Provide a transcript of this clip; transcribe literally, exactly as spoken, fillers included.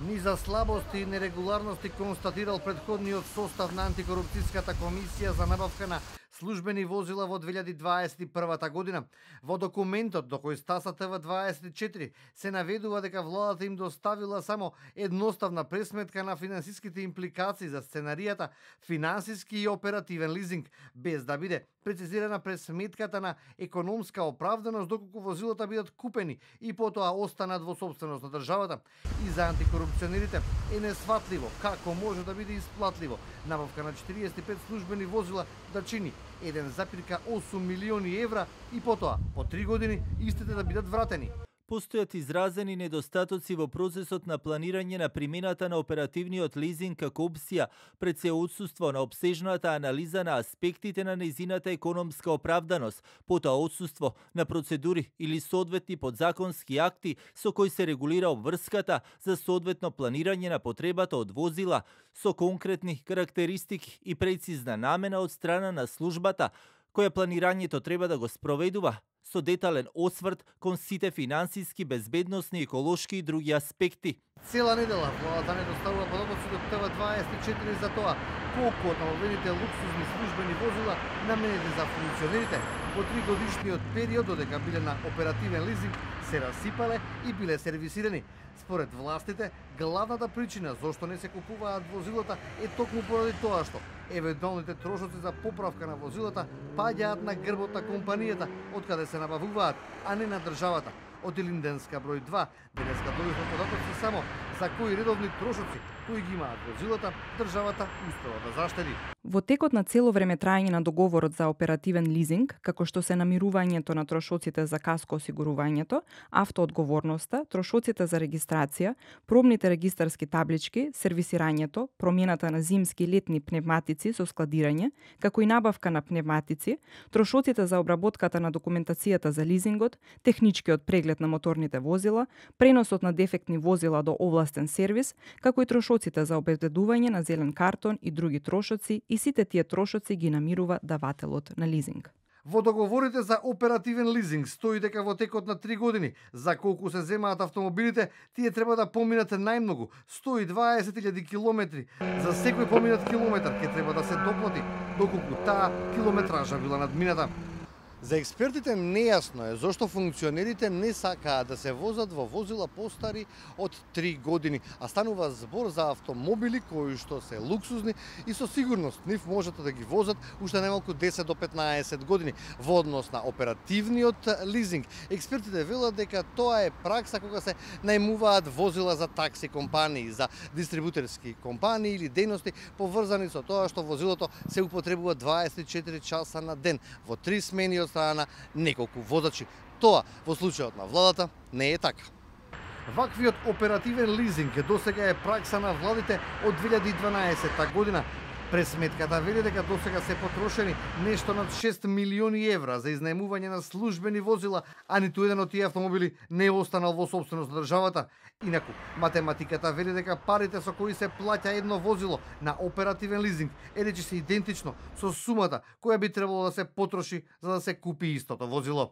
Низа слабости и нерегуларности констатирал претходниот состав на антикорупцијската комисија за набавка на службени возила во две илјади дваесет и прва година. Во документот до кој стаса Т В дваесет и четири се наведува дека владата им доставила само едноставна пресметка на финансиските импликации за сценаријата финансиски и оперативен лизинг, без да биде прецизирана пресметката на економска оправданост доколку возилата бидат купени и потоа останат во собственост на државата. И за антикорупционерите е несватливо како може да биде исплатливо набавка на четириесет и пет службени возила да чини еден запирка осум милиони евра и потоа по три години истите да бидат вратени. Постојат изразени недостатоци во процесот на планирање на примената на оперативниот лизинг како опција, пред се отсуство на обсежната анализа на аспектите на нејзината економска оправданост, потоа отсуство на процедури или соодветни подзаконски акти со кои се регулира обврската за соодветно планирање на потребата од возила со конкретни карактеристики и прецизна намена од страна на службата која планирањето треба да го спроведува, со детален осврт кон сите финансиски, безбедносни, еколошки и други аспекти. Цела недела владата не доставува податоци до Т В дваесет и четири за тоа колку од најавените луксузни службени возила наменети за функционерите во тригодишниот период додека биле на оперативен лизинг се расипале и биле сервисирани. Според властите, главната причина зошто не се купуваат возилата е токму поради тоа што евентуалните трошоци за поправка на возилата паѓаат на грбот на компанијата од каде се набавуваат, а не на државата. Од Илинденска број два, денеска дојдоа податоци само за кои редовни трошоци кои ги имаат возилата, државата успела да заштеди. Во текот на цело време траење на договорот за оперативен лизинг, како што се намирувањето на трошоците за каско осигурувањето, автоодговорноста, трошоците за регистрација, пробните регистарски таблички, сервисирањето, промената на зимски и летни пневматици со складирање, како и набавка на пневматици, трошоците за обработката на документацијата за лизингот, техничкиот преглед на моторните возила, преносот на дефектни возила до овластен сервис, како и трошоците за обезбедување на зелен картон и други трошоци, и сите тие трошоци ги намирува давателот на лизинг. Во договорите за оперативен лизинг стои дека во текот на три години, за колку се земаат автомобилите, тие треба да поминат најмногу сто и дваесет илјади километри. За секој поминат километар ќе треба да се доплати, доколку таа километража била надмината. За експертите нејасно е зошто функционерите не сакаат да се возат во возила постари од три години, а станува збор за автомобили кои што се луксузни и со сигурност нив можат да ги возат уште најмалку десет до петнаесет години. Во однос на оперативниот лизинг, експертите велат дека тоа е пракса кога се најмуваат возила за такси компании, за дистрибутерски компании или дејности поврзани со тоа што возилото се употребува дваесет и четири часа на ден во три смени од страна на неколку возачи. Тоа во случајот на владата не е така. Ваквиот оперативен лизинг досега е пракса на владите од две илјади и дванаесетта година. Пресметката вели дека досега се потрошени нешто над шест милиони евра за изнајмување на службени возила, а ниту еден од тие автомобили не е останал во собственост на државата. Инаку, математиката вели дека парите со кои се плаќа едно возило на оперативен лизинг е речиси идентично со сумата која би требало да се потроши за да се купи истото возило.